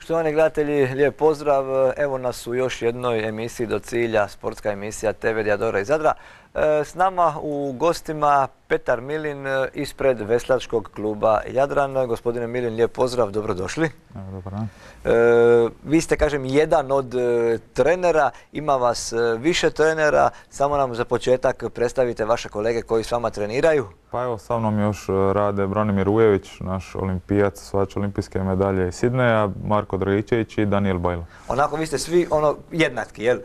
Štovani gledatelji, lijep pozdrav. Evo nas u još jednoj emisiji Do cilja, sportska emisija TV Diadora iz Zadra. S nama u gostima Petar Milin ispred Veslačkog kluba Jadran. Gospodine Milin, lijep pozdrav, dobrodošli. Dobar dan. Vi ste, kažem, jedan od trenera, ima vas više trenera. Samo nam za početak predstavite vaše kolege koji s vama treniraju. Pa evo, sa mnom još rade Branimir Ujević, naš olimpijac, osvajač olimpijske medalje iz Sidneja, Marko Dragičević i Daniel Bajlo. Onako, vi ste svi jednaki, jel?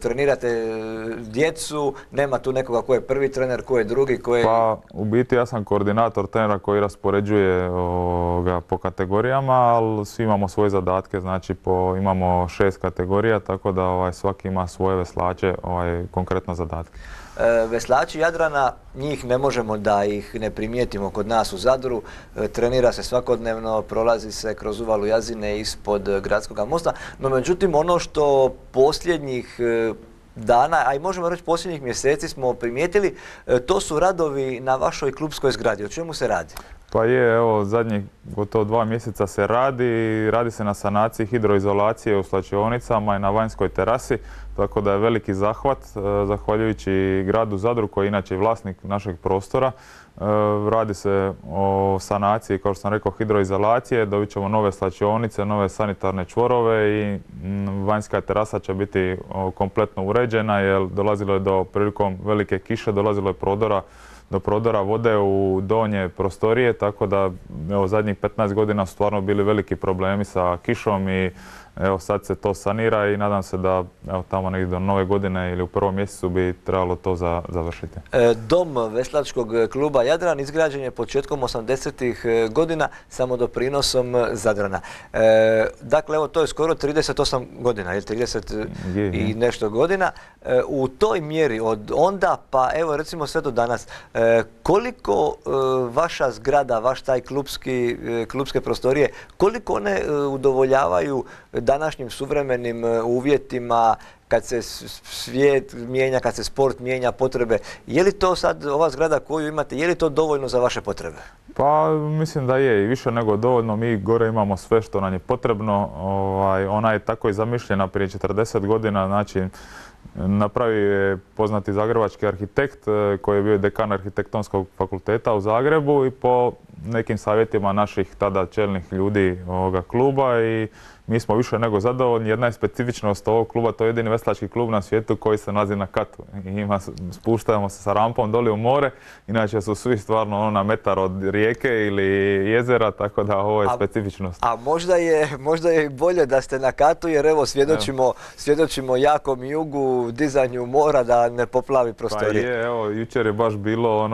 Trenirate djecu, nema tu nekoga ko je prvi trener, ko je drugi, ko je... Pa, u biti ja sam koordinator trenera koji raspoređuje po kategorijama, ali svi imamo svoje zadatke, znači imamo 6 kategorija, tako da svaki ima svoje veslače, konkretno zadatke. Veslači Jadrana, njih ne možemo da ih ne primijetimo kod nas u Zadru. Trenira se svakodnevno, prolazi se kroz uvalu Jazine ispod Gradskog mosta. No međutim, ono što posljednjih dana, a i možemo reći posljednjih mjeseci smo primijetili, to su radovi na vašoj klubskoj zgradi. O čemu se radi? Pa je, evo, zadnjih gotovo 2 mjeseca se radi se na sanaciji hidroizolacije u slačionicama i na vanjskoj terasi, tako da je veliki zahvat, zahvaljujući gradu Zadru koji je inače vlasnik našeg prostora. Radi se o sanaciji, kao što sam rekao, hidroizolacije, dobit ćemo nove slačionice, nove sanitarne čvorove i vanjska terasa će biti kompletno uređena jer dolazilo je prilikom velike kiše, dolazilo je do prodora vode u donje prostorije, tako da evo, zadnjih 15 godina su stvarno bili veliki problemi sa kišom i evo, sad se to sanira i nadam se da evo, tamo negdje do nove godine ili u prvom mjesecu bi trebalo to završiti. Dom Veslačkog kluba Jadran izgrađen je početkom 80-ih godina samodoprinosom Zadrana. Dakle, evo, to je skoro 38 godina, 30 i nešto godina. U toj mjeri od onda pa evo recimo sve do danas, koliko vaša zgrada, vaš taj klubske prostorije, koliko one udovoljavaju današnjim suvremenim uvjetima, kad se svijet mijenja, kad se sport mijenja, potrebe. Je li to sad, ova zgrada koju imate, je li to dovoljno za vaše potrebe? Pa mislim da je i više nego dovoljno. Mi gore imamo sve što nam je potrebno. Ona je tako i zamišljena prije 40 godina. Znači, napravio je poznati zagrebački arhitekt koji je bio dekan arhitektonskog fakulteta u Zagrebu i po nekim savjetima naših tada čelnih ljudi ovoga kluba i mi smo više nego zadovoljni. Jedna je specifičnost ovog kluba, to je jedini veslački klub na svijetu koji se nalazi na katu. Spuštamo se sa rampom doli u more, inače su svi stvarno na metar od rijeke ili jezera, tako da ovo je specifičnost. A možda je bolje da ste na katu jer evo svjedočimo jakom jugu, dizanju mora da ne poplavi prostorije. Pa je, evo, jučer je baš bilo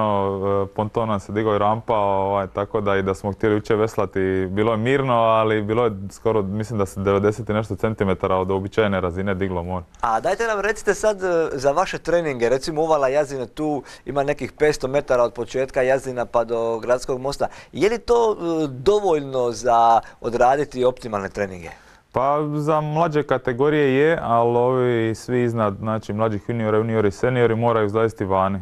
ponton nam se digao i rampa, tako da i da smo htjeli jučer veslati, bilo je mirno, ali bilo je skoro, mislim da se 90 i nešto centimetara od uobičajene razine diglo more. A dajte nam recite sad za vaše treninge, recimo uvala Jazine, tu ima nekih 500 metara od početka Jazina pa do Gradskog mosta. Je li to dovoljno za odraditi optimalne treninge? Pa za mlađe kategorije je, ali ovi svi iznad, znači mlađih juniora, juniori i seniori moraju izlaziti vani.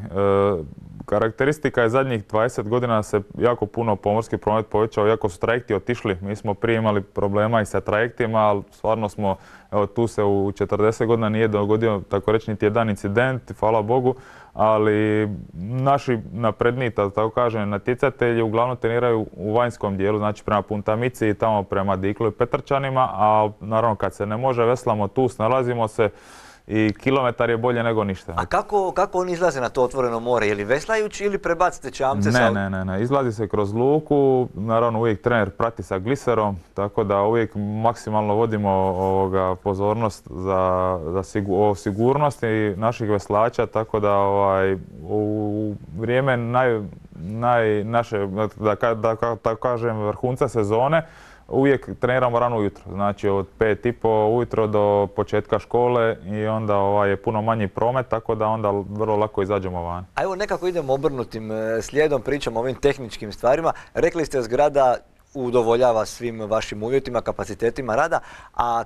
Karakteristika je zadnjih 20 godina se jako puno pomorski promet povećao, jako su trajekti otišli. Mi smo prije imali problema i sa trajektima, ali stvarno smo, evo tu se u 40 godina nije dogodio tako reći niti jedan incident, hvala Bogu, ali naši napredniji, tako kažem, natjecatelji uglavnom treniraju u vanjskom dijelu, znači prema Puntamici i tamo prema Diklu i Petrčanima, a naravno kad se ne može veslamo tu, snalazimo se i kilometar je bolje nego ništa. A kako oni izlaze na to otvoreno more? Je li veslajući ili prebacite čamce? Ne. Izlazi se kroz luku, naravno uvijek trener prati sa gliserom, tako da uvijek maksimalno vodimo pozornost o sigurnosti naših veslača, tako da u vrijeme naše, da kažem, vrhunca sezone, uvijek treniramo rano ujutro, znači od 5:30 ujutro do početka škole i onda je puno manji promet, tako da onda vrlo lako izađemo van. A evo nekako idemo obrnutim slijedom, pričamo o ovim tehničkim stvarima. Rekli ste zgrada udovoljava svim vašim uvjetima, kapacitetima rada. A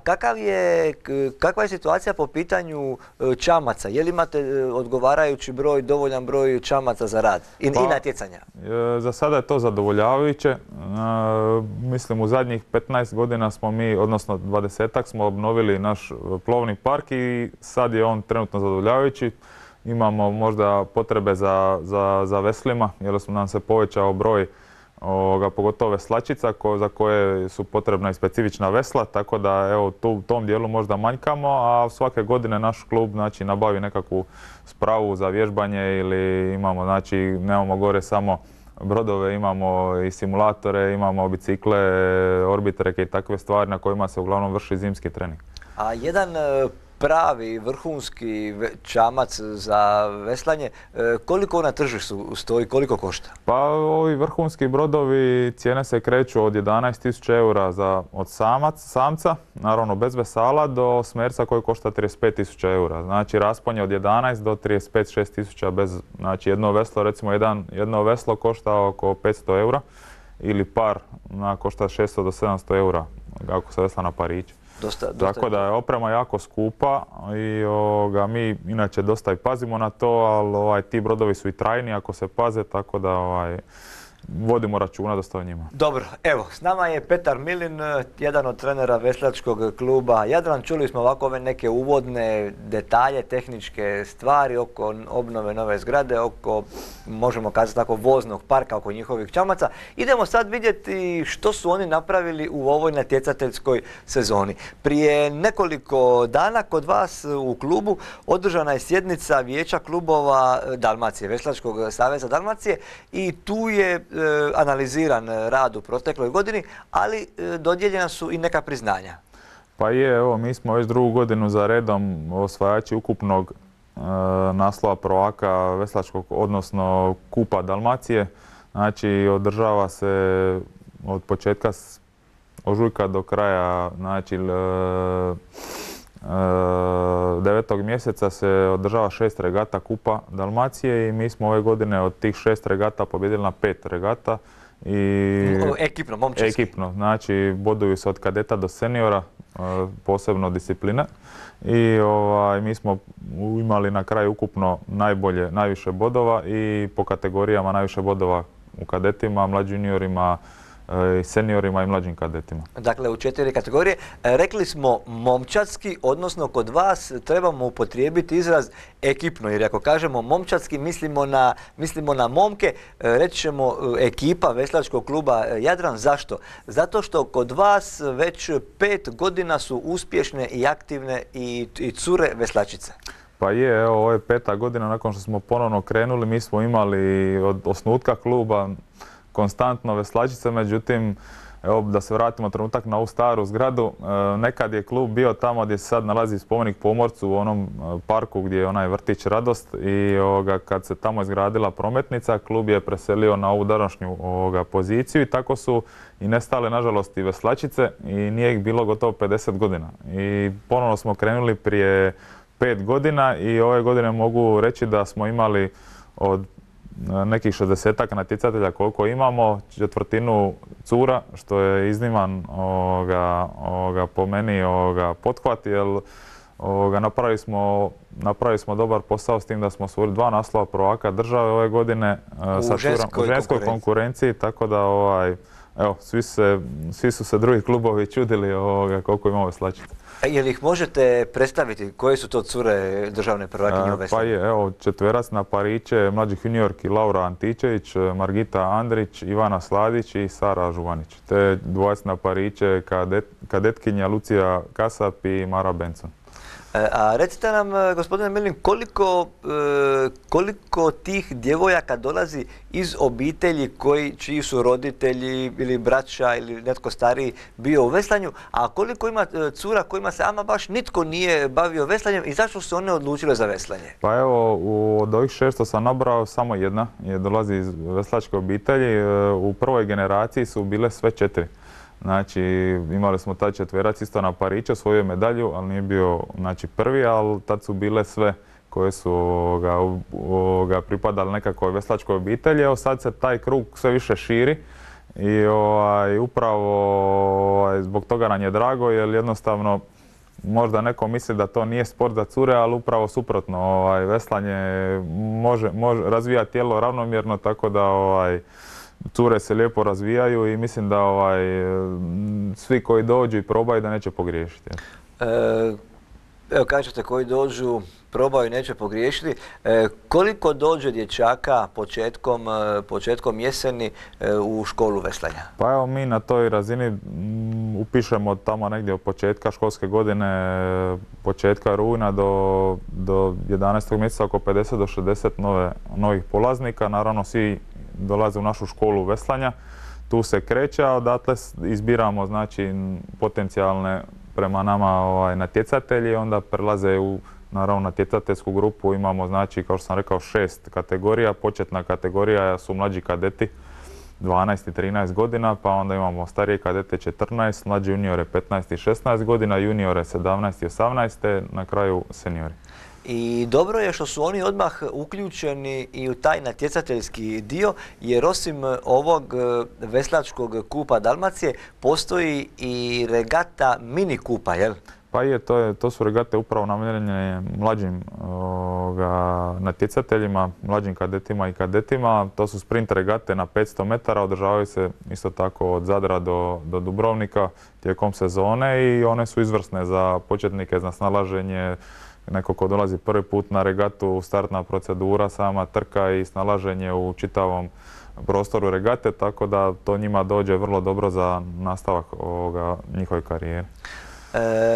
kakva je situacija po pitanju čamaca? Je li imate odgovarajući broj, dovoljan broj čamaca za rad i natjecanja? Za sada je to zadovoljavajuće. Mislim u zadnjih 15 godina smo mi, odnosno 20-ak smo obnovili naš plovni park i sad je on trenutno zadovoljavajući. Imamo možda potrebe za veslima jer nam se povećao broj pogotovo veslačica za koje su potrebna i specifična vesla, tako da evo u tom dijelu možda manjkamo, a svake godine naš klub znači nabavi nekakvu spravu za vježbanje ili imamo, znači nemamo gore samo brodove, imamo i simulatore, imamo bicikle, orbitreke i takve stvari na kojima se uglavnom vrši zimski trening. A jedan pravi vrhunski čamac za veslanje, koliko na tržištu stoji, koliko košta? Pa ovi vrhunski brodovi cijene se kreću od 11.000 eura od samca, naravno bez vesala, do smerca koji košta 35.000 eura. Znači raspon je od 11 do 35-6.000 bez, znači jedno veslo, recimo jedno veslo košta oko 500 eura ili par košta 600 do 700 eura ako se vesla na pariće. Tako da je oprema jako skupa i mi inače dosta i pazimo na to, ali ti brodovi su i trajni ako se paze, tako da vodimo računa dosta o njima. Dobro, evo, s nama je Petar Milin, jedan od trenera veslačkog kluba Jadran. Čuli smo ovako ove neke uvodne detalje, tehničke stvari oko obnove nove zgrade, oko, možemo kazati tako, voznog parka, oko njihovih čamaca. Idemo sad vidjeti što su oni napravili u ovoj natjecateljskoj sezoni. Prije nekoliko dana kod vas u klubu održana je sjednica Vijeća klubova Dalmacije, Veslačkog saveza Dalmacije, i tu je analiziran rad u protekloj godini, ali dodijeljena su i neka priznanja. Pa evo, mi smo već drugu godinu za redom osvajači ukupnog naslova prvaka veslačkog, odnosno Kupa Dalmacije. Znači, održava se od početka ožujka do kraja, znači 9. mjeseca se održava 6 regata Kupa Dalmacije i mi smo ove godine od tih 6 regata pobjedili na 5 regata. Ekipno, momčarski. Ekipno, znači boduju se od kadeta do seniora, posebno discipline. I mi smo imali na kraju ukupno najviše bodova i po kategorijama najviše bodova u kadetima, mlađim juniorima, seniorima i mlađim kadetima. Dakle, u 4 kategorije. Rekli smo momčadski, odnosno kod vas trebamo upotrijebiti izraz ekipno, jer ako kažemo momčadski mislimo na momke, reći ćemo ekipa veslačkog kluba Jadran. Zašto? Zato što kod vas već 5 godina su uspješne i aktivne i cure veslačice. Pa evo, ovo je 5. godina nakon što smo ponovno krenuli. Mi smo imali od osnutka kluba konstantno veslačice, međutim, evo da se vratimo trenutak na ovu staru zgradu, nekad je klub bio tamo gdje se sad nalazi spomenik pomorcu u onom parku gdje je onaj vrtić Radost i kad se tamo izgradila prometnica, klub je preselio na ovu današnju poziciju i tako su i nestale nažalost i veslačice i nije ih bilo gotovo 50 godina. I ponovno smo krenuli prije 5 godina i ove godine mogu reći da smo imali od nekih 60-ak natjecatelja koliko imamo, četvrtinu cura, što je izniman po meni pothvat, jer napravili smo dobar posao s tim da smo osvojili 2 naslova prvaka države ove godine u ženskoj konkurenciji, tako da evo, svi su se drugi klubovi čudili koliko imamo veslačica. Je li ih možete predstaviti? Koje su to cure državne prvakinje u veslanju? Pa evo, četverac na pariće, mlađih juniorki Laura Antičević, Margita Andrić, Ivana Sladić i Sara Žuvanić. Te dvojac na pariće kadetkinja Lucija Kasap i Mara Benson. A recite nam, gospodine Milin, koliko tih djevojaka dolazi iz obitelji čiji su roditelji ili braća ili netko stariji bio u veslanju, a koliko ima cura kojima se ama baš nitko nije bavio veslanjem i zašto su one odlučile za veslanje? Pa evo, od ovih 6 sam nabrao, samo jedna dolazi iz veslačke obitelji. U prvoj generaciji su bile sve 4. Znači, imali smo taj četverac isto na pariće, osvojio medalju, ali nije bio prvi, ali tad su bile sve koje su pripadali nekakvoj veslačkoj obitelji. Evo sad se taj krug sve više širi i upravo zbog toga nam je drago jer jednostavno možda neko misli da to nije sport za cure, ali upravo suprotno. Veslanje razvija tijelo ravnomjerno, tako da cure se lijepo razvijaju i mislim da svi koji dođu i probaju da neće pogriješiti. Evo kažete koji dođu, probaju i neće pogriješiti. Koliko dođe dječaka početkom jeseni u školu veslanja? Pa evo mi na toj razini upišemo tamo negdje od početka školske godine, početka rujna do 11. mjeseca oko 50 do 60 novih polaznika. Naravno svi dolaze u našu školu veslanja. Tu se kreće, a odatle izbiramo znači potencijalne prema nama natjecatelji, onda prelaze u naravno natjecateljsku grupu. Imamo znači kao što sam rekao 6 kategorija. Početna kategorija su mlađi kadeti 12 i 13 godina, pa onda imamo starije kadete 14, mlađi juniore 15 i 16 godina, juniore 17 i 18, te na kraju seniori. I dobro je što su oni odmah uključeni i u taj natjecateljski dio, jer osim ovog veslačkog kupa Dalmacije postoji i regata mini kupa, jel? Pa je, to su regate upravo namijenjene mlađim natjecateljima, mlađim kadetima i kadetima. To su sprint regate na 500 metara, održavaju se isto tako od Zadra do Dubrovnika tijekom sezone i one su izvrsne za početnike, za snalaženje. Neko ko dolazi prvi put na regatu, startna procedura, sama trka i snalaženje u čitavom prostoru regate, tako da to njima dođe vrlo dobro za nastavak njihove karijere.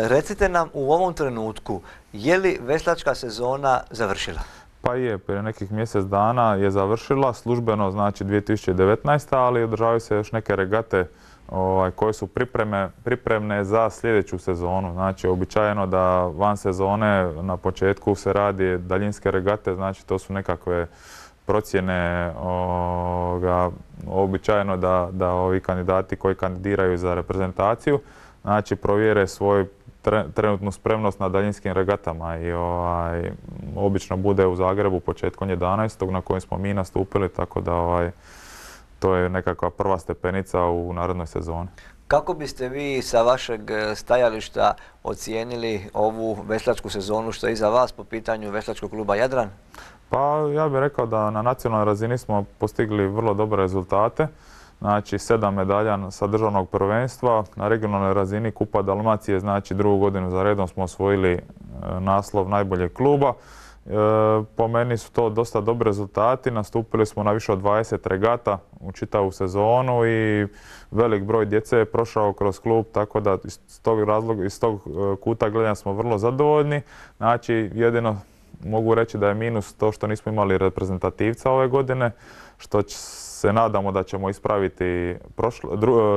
Recite nam u ovom trenutku, je li veslačka sezona završila? Pa je, prije nekih mjesec dana je završila, službeno znači 2019. ali održavaju se još neke regate koje su pripremne za sljedeću sezonu. Znači, običajeno da van sezone na početku se radi daljinske regate, znači to su nekakve procjene, običajeno da ovi kandidati koji kandidiraju za reprezentaciju, znači provjere svoju trenutnu spremnost na daljinskim regatama i obično bude u Zagrebu početkom 11. na kojem smo mi nastupili, tako da to je nekakva prva stepenica u narednoj sezoni. Kako biste vi sa vašeg stajališta ocijenili ovu veslačku sezonu što je iza vas po pitanju veslačkog kluba Jadran? Pa ja bih rekao da na nacionalnoj razini smo postigli vrlo dobre rezultate. Znači 7 medalja sa državnog prvenstva, na regionalnoj razini Kupa Dalmacije, znači drugu godinu za redom smo osvojili naslov najboljeg kluba. Po meni su to dosta dobri rezultati, nastupili smo na više od 20 regata u čitavu sezonu i velik broj djece je prošao kroz klub, tako da iz tog kuta gledanja smo vrlo zadovoljni. Znači jedino mogu reći da je minus to što nismo imali reprezentativca ove godine, što se nadamo da ćemo ispraviti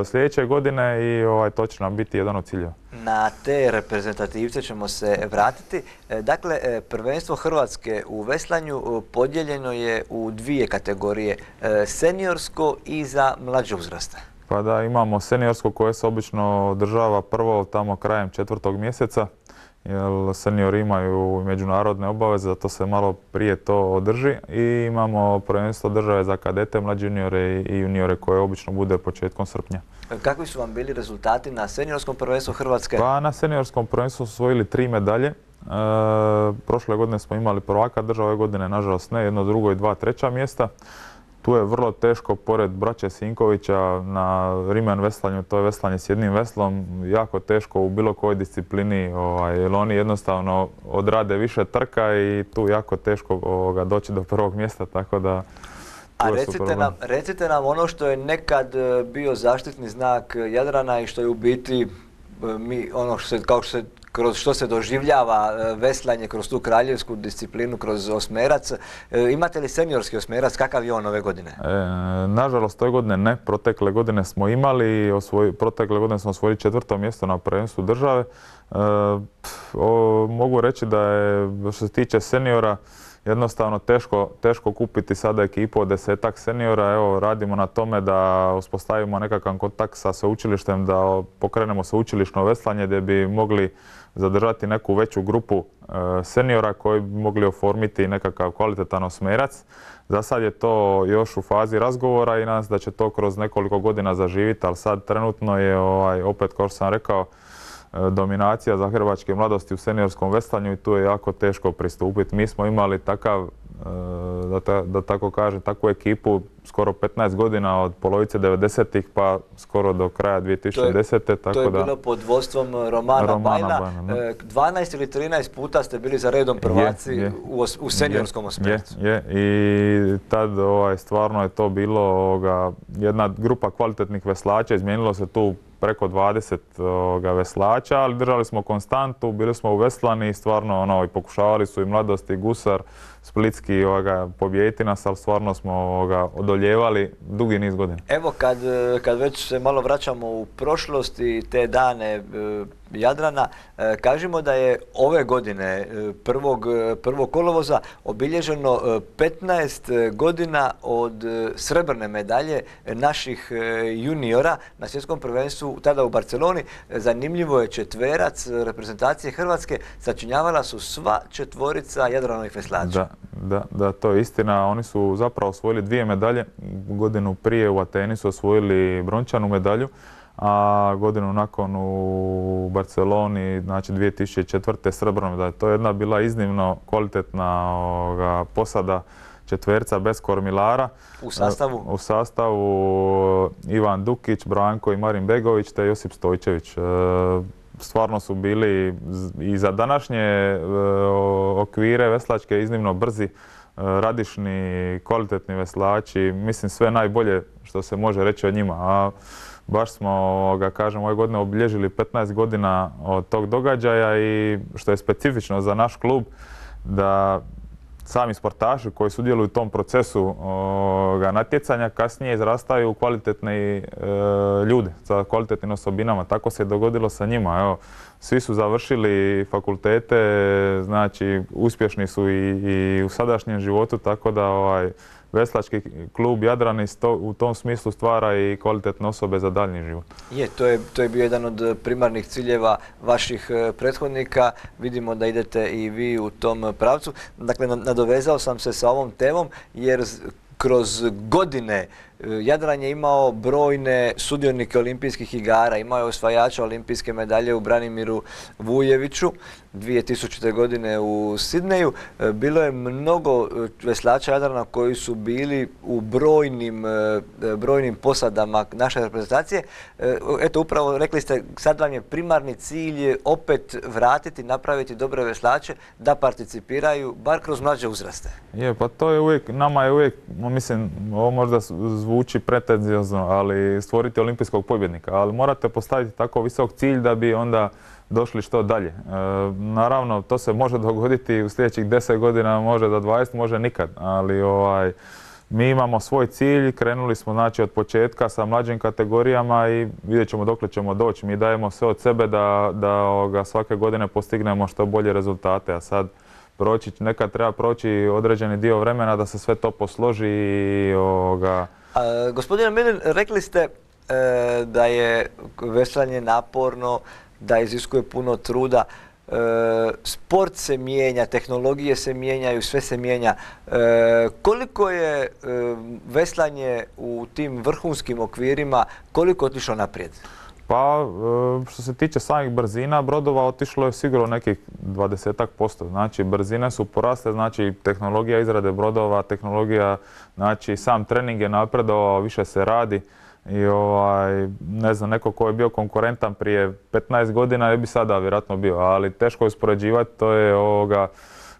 sljedeće godine i to će nam biti jedan od ciljeva. Na te reprezentativce ćemo se vratiti. Dakle, prvenstvo Hrvatske u veslanju podijeljeno je u dvije kategorije, seniorsko i za mlađe uzraste. Pa da, imamo seniorsko koje se obično održava prvo tamo krajem 4. mjeseca, jer seniori imaju međunarodne obaveze, zato se malo prije to održi. I imamo prvenstvo države za kadete, mlađe juniore i juniore koje obično bude početkom srpnja. Kakvi su vam bili rezultati na seniorskom prvenstvu Hrvatske? Pa na seniorskom prvenstvu su osvojili 3 medalje. Prošle godine smo imali prvaka države, ove godine nažalost ne, jedno drugo i 2 treća mjesta. Tu je vrlo teško, pored braće Sinkovića na rimen veslanju, to je veslanje s jednim veslom, jako teško u bilo kojoj disciplini, jer oni jednostavno odrade više trka i tu jako teško doći do prvog mjesta, tako da... A recite nam ono što je nekad bio zaštitni znak Jadrana i što je u biti kroz što se doživljava veslanje kroz tu kraljevsku disciplinu, kroz osmerac. Imate li seniorski osmerac? Kakav je on ove godine? Nažalost, ove godine ne. Protekle godine smo imali, protekle godine smo osvojili 4. mjesto na prvenstvu države. Mogu reći da je, što se tiče seniora, jednostavno teško kupiti sada ekipu od 10-ak seniora. Evo, radimo na tome da uspostavimo nekakav kontakt sa sveučilištem, da pokrenemo sveučilišno veslanje gdje bi mogli zadržati neku veću grupu seniora koji bi mogli oformiti nekakav kvalitetan osmerac. Za sad je to još u fazi razgovora i nadam se da će to kroz nekoliko godina zaživiti, ali sad trenutno je opet, kao što sam rekao, dominacija zagrebačke mladosti u seniorskom veslanju i tu je jako teško pristupiti. Mi smo imali takav, da tako kažem, takvu ekipu skoro 15 godina od polovice 90-ih pa skoro do kraja 2010. To je bilo pod vodstvom Romana Bajna. 12 ili 13 puta ste bili za redom prvaci u seniorskom osmercu. I tad stvarno je to bilo jedna grupa kvalitetnih veslača, izmijenilo se tu preko 20 veslača, ali držali smo konstantu, bili smo uveslani i stvarno i pokušavali su i Mladost i Gusar, Splitski pobijediti nas, ali stvarno smo odoljevali dugi niz godina. Evo kad već se malo vraćamo u prošlost i te dane Jadrana, kažemo da je ove godine, 1. kolovoza, obilježeno 15 godina od srebrne medalje naših juniora na svjetskom prvenstvu tada u Barceloni. Zanimljivo je, četverac reprezentacije Hrvatske sačinjavala su sva četvorica Jadranovih veslača. Da, to je istina. Oni su zapravo osvojili 2 medalje. Godinu prije u Ateni su osvojili brončanu medalju, a godinu nakon u Barceloni, znači 2004. srebrnu medalju. To je jedna bila iznimno kvalitetna posada četverca bez kormilara. U sastavu Ivan Dukić, Branko i Marin Begović te Josip Stojčević. Stvarno su bili i za današnje okvire veslačke iznimno brzi, radišni, kvalitetni veslači. Mislim, sve najbolje što se može reći o njima. A baš smo, ove godine obilježili 15 godina od tog događaja i što je specifično za naš klub, da sami sportaši koji sudjeluju u tom procesu natjecanja kasnije izrastaju u kvalitetne ljude sa kvalitetnim osobinama. Tako se je dogodilo sa njima. Evo, svi su završili fakultete, znači uspješni su i u sadašnjem životu, tako da veslački klub Jadran u tom smislu stvara i kvalitetne osobe za daljnji život. To je bio jedan od primarnih ciljeva vaših prethodnika. Vidimo da idete i vi u tom pravcu. Dakle, nadovezao sam se sa ovom temom jer kroz godine Jadran je imao brojne sudionike olimpijskih igara, imao je osvajača olimpijske medalje u Branimiru Vujeviću 2000. godine u Sidneju. Bilo je mnogo veslača Jadrana koji su bili u brojnim posadama naše reprezentacije. Eto, upravo rekli ste, sad vam je primarni cilj opet vratiti, napraviti dobre veslače da participiraju, bar kroz mlađe uzraste. Pa to je uvijek, nama je uvijek, mislim, ovo možda zvuči pretenziozno, ali stvoriti olimpijskog pobjednika. Ali morate postaviti tako visok cilj da bi onda došli što dalje. Naravno, to se može dogoditi u sljedećih 10 godina, može do 20, može nikad. Ali mi imamo svoj cilj, krenuli smo znači od početka sa mlađim kategorijama i vidjet ćemo dokle ćemo doći. Mi dajemo sve od sebe da svake godine postignemo što bolje rezultate, a sad nekad treba proći određeni dio vremena da se sve to posloži i Gospodine Milin, rekli ste da je veslanje naporno, da iziskuje puno truda. Sport se mijenja, tehnologije se mijenjaju, sve se mijenja. Koliko je veslanje u tim vrhunskim okvirima, koliko je otišlo naprijed? Pa, što se tiče samih brzina brodova, otišlo je sigurno nekih 20%. Znači, brzine su porasle, znači tehnologija izrade brodova, tehnologija, znači sam trening je napredovao, više se radi. I ne znam, neko ko je bio konkurentan prije 15 godina ne bi sada vjerojatno bio, ali teško je uspoređivati, to je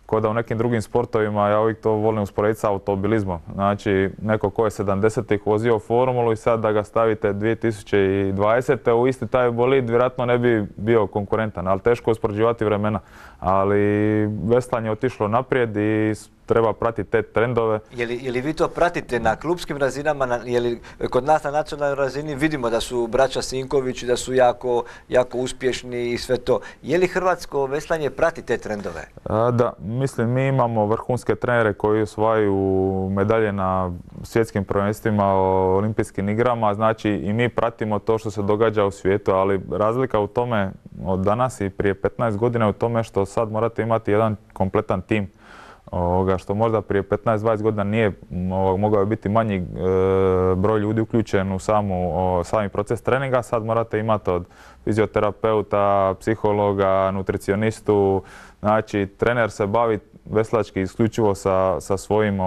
ko da u nekim drugim sportovima, ja uvijek to volim usporediti sa automobilizmom. Znači, neko ko je 70-ih vozio formulu i sad da ga stavite 2020. u isti taj bolid, vjerojatno ne bi bio konkurentan, ali teško je uspoređivati vremena. Ali veslanje je otišlo naprijed i treba pratiti te trendove. Je li vi to pratite na klupskim razinama, je li kod nas na nacionalnoj razini vidimo da su braća Sinković, da su jako uspješni i sve to. Je li hrvatsko veslanje prati te trendove? Da, mislim mi imamo vrhunske trenere koji osvajaju medalje na svjetskim prvenstvima, olimpijskim igrama, znači i mi pratimo to što se događa u svijetu, ali razlika u tome od danas i prije 15 godina je u tome što sad morate imati jedan kompletan tim. Što možda prije 15-20 godina nije mogao biti manji broj ljudi uključen u sami proces treninga. Sad morate imati od fizioterapeuta, psihologa, nutricionistu. Znači, trener se bavi veslački isključivo sa svojim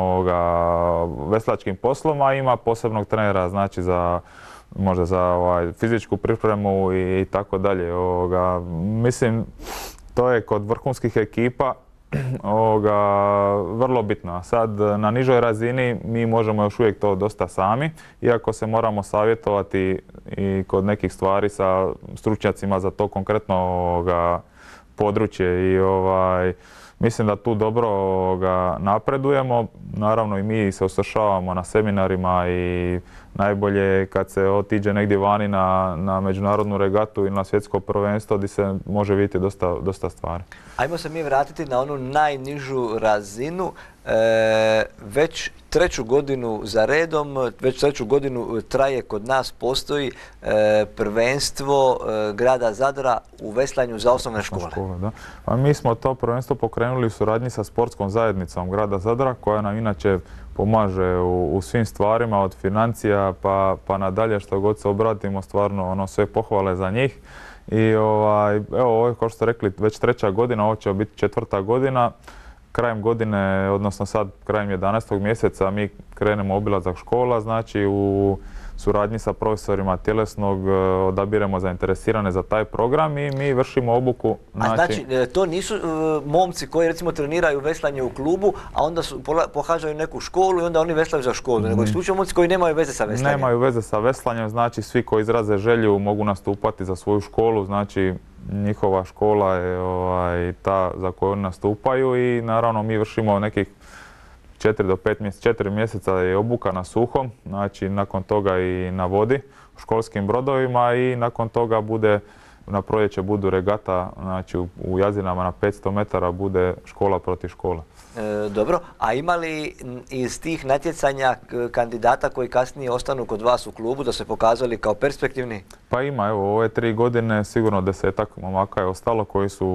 veslačkim poslom, a ima posebnog trenera, znači možda za fizičku pripremu i tako dalje. Mislim, to je kod vrhunskih ekipa vrlo bitno. Sad na nižoj razini mi možemo još uvijek to dosta sami, iako se moramo savjetovati i kod nekih stvari sa stručnjacima za to konkretno područje i mislim da tu dobro napredujemo. Naravno i mi se usavršavamo na seminarima i najbolje je kad se otiđe negdje vani na međunarodnu regatu ili na svjetsko prvenstvo gdje se može vidjeti dosta stvari. Ajmo se mi vratiti na onu najnižu razinu. Već treću godinu za redom, već treću godinu traje kod nas, postoji prvenstvo grada Zadra u veslanju za osnovne škole. Da. A mi smo to prvenstvo pokrenuli u suradnji sa sportskom zajednicom grada Zadra, koja nam inače pomaže u svim stvarima, od financija pa nadalje, što god se obratimo, stvarno sve pohvale za njih. I evo, ovo je, kao što ste rekli, već treća godina, ovo će biti četvrta godina. Krajem godine, odnosno sad krajem 11. mjeseca, mi krenemo obilazak škola, znači u suradnji sa profesorima tjelesnog odabiremo zainteresirane za taj program i mi vršimo obuku. Znači, to nisu momci koji recimo treniraju veslanje u klubu, a onda pohađaju neku školu i onda oni veslaju za školu, nego isključivo momci koji nemaju veze sa veslanjem. Nemaju veze sa veslanjem, znači svi koji izraze želju mogu nastupati za svoju školu, znači njihova škola je ta za koju oni nastupaju i naravno mi vršimo nekih 4 mjeseca je obuka na suhom, znači nakon toga i na vodi u školskim brodovima i nakon toga na proljeće budu regata, znači u Jazinama na 500 metara bude škola protiv škola. Dobro, a ima li iz tih natjecanja kandidata koji kasnije ostanu kod vas u klubu da se pokazali kao perspektivni? Pa ima, evo, ove 3 godine sigurno 10-ak momaka je ostalo koji su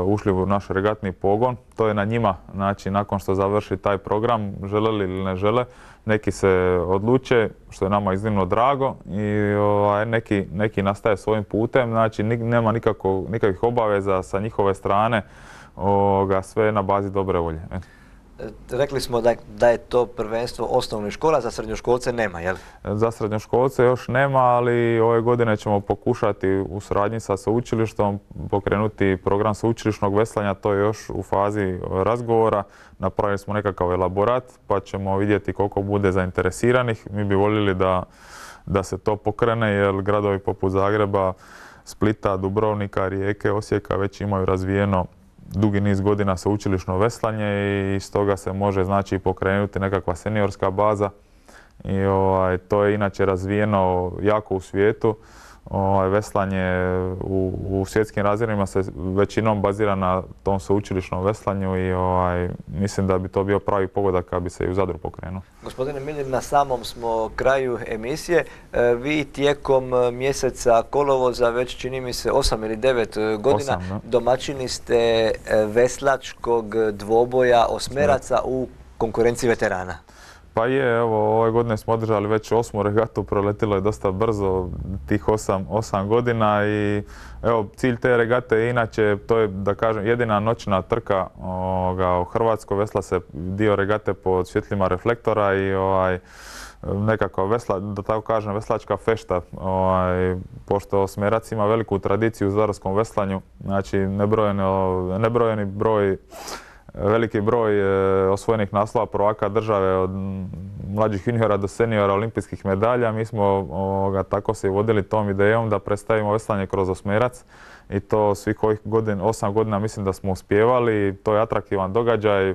ušli u naš regatni pogon. To je na njima, znači nakon što završi taj program, žele li ili ne žele, neki se odluče, što je nama iznimno drago, i neki nastaje svojim putem, znači nema nikakvih obaveza sa njihove strane, sve na bazi dobre volje. Rekli smo da je to prvenstvo osnovnih škola, za srednjoškolce nema, jel? Za srednjoškolce još nema, ali ove godine ćemo pokušati u suradnji sa sveučilištom pokrenuti program sveučilišnog veslanja, to je još u fazi razgovora. Napravili smo nekakav elaborat pa ćemo vidjeti koliko bude zainteresiranih. Mi bi voljeli da se to pokrene jer gradovi poput Zagreba, Splita, Dubrovnika, Rijeke, Osijeka već imaju razvijeno dugi niz godina sveučilišno veslanje i stoga se može znači pokrenuti nekakva seniorska baza i to je inače razvijeno jako u svijetu. Veslanje u svjetskim razmjerima se većinom bazira na tom sveučilišnom veslanju i mislim da bi to bio pravi pogodak kad bi se i u Zadru pokrenuo. Gospodine Milir, na samom smo kraju emisije. Vi tijekom mjeseca kolovoza, već čini mi se 8 ili 9 godina, domaćini ste veslačkog dvoboja osmeraca u konkurenciji veterana. Pa je, evo, ove godine smo održali već 8. regatu, proletilo je dosta brzo tih 8 godina i evo, cilj te regate je inače, to je da kažem jedina noćna trka u Hrvatskoj, vesla se dio regate pod svjetlima reflektora i nekakva da tako kažem veslačka fešta, pošto osmerac ima veliku tradiciju u zadarskom veslanju, znači nebrojeni broj, veliki broj osvojenih naslova prvaka države od mlađih juniora do seniora olimpijskih medalja. Mi smo tako se vodili tom idejom da predstavimo veslanje kroz osmerac i to svih ovih 8 godina mislim da smo uspijevali. To je atraktivan događaj.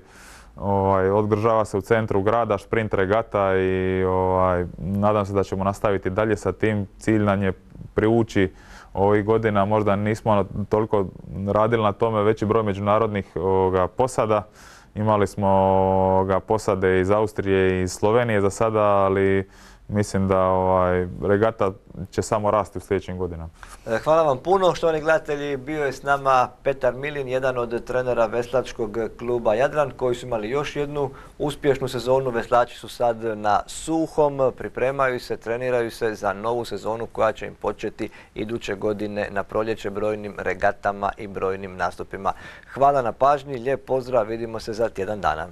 Održava se u centru grada, šprint regata i nadam se da ćemo nastaviti dalje sa tim. Cilj nam je privući ovih godina, možda nismo toliko radili na tome, veći broj međunarodnih posada. Imali smo posade iz Austrije i iz Slovenije za sada, ali mislim da regata će samo rasti u sljedećim godinama. Hvala vam puno. Štovani gledatelji, bio je s nama Petar Milin, jedan od trenera veslačkog kluba Jadran, koji su imali još jednu uspješnu sezonu. Veslači su sad na suhom, pripremaju se, treniraju se za novu sezonu koja će im početi iduće godine na proljeće brojnim regatama i brojnim nastupima. Hvala na pažnji, lijep pozdrav, vidimo se za tjedan dana.